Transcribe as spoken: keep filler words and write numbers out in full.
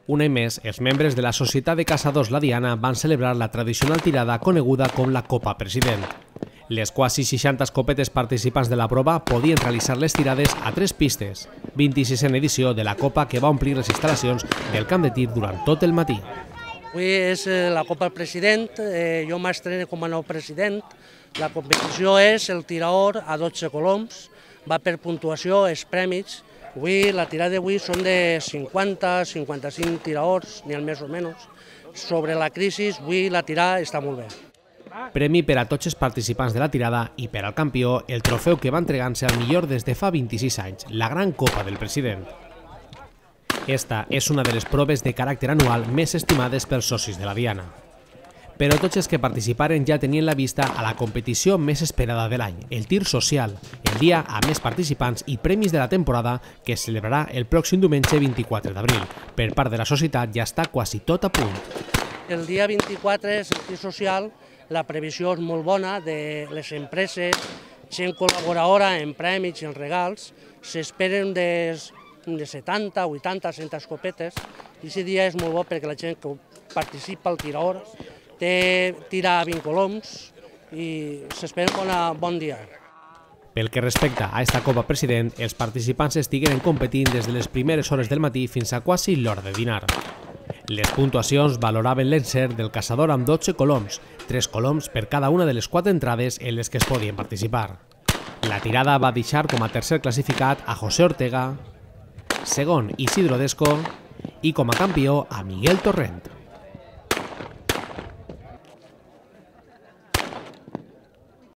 Un any més, els membres de la Societat de Caçadors La Diana van celebrar la tradicional tirada coneguda com la Copa President. Les quasi seixanta escopetes participants de la prova podien realitzar les tirades a tres pistes, vint-i-sisena edició de la Copa que va omplir les instal·lacions del camp de tir durant tot el matí. Avui és la Copa President, eh, jo m'estreno com a nou president. La competició és el tiraor a dotze coloms, va per puntuació, els premis. Avui, la tirada d'avui són de cinquanta a cinquanta-cinc tiraors, ni al més o menys. Sobre la crisi, avui la tirada està molt bé. Premi per a tots els participants de la tirada i per al campió el trofeu que va entregar-se al millor des de fa vint-i-sis anys, la Gran Copa del President. Esta és una de les proves de caràcter anual més estimades pels socis de la Diana. Però tots els que participaren ja tenien la vista a la competició més esperada de l'any, el tir social, el dia amb més participants i premis de la temporada que es celebrarà el pròxim diumenge vint-i-quatre d'abril. Per part de la societat ja està quasi tot a punt. El dia vint-i-quatre és el tir social, la previsió és molt bona de les empreses, gent col·laboradora en premis i en regals, s'esperen de setanta, vuitanta, cent escopetes, i aquest dia és molt bo perquè la gent que participa al tiraor té tira a vint coloms i s'espera un bon dia. Pel que respecta a esta Copa President, els participants estigueren competint des de les primeres hores del matí fins a quasi l'hora de dinar. Les puntuacions valoraven l'encert del caçador amb dotze coloms, tres coloms per cada una de les quatre entrades en les que es podien participar. La tirada va deixar com a tercer classificat a José Ortega, segon Isidro Desco i com a campió a Miguel Torrent.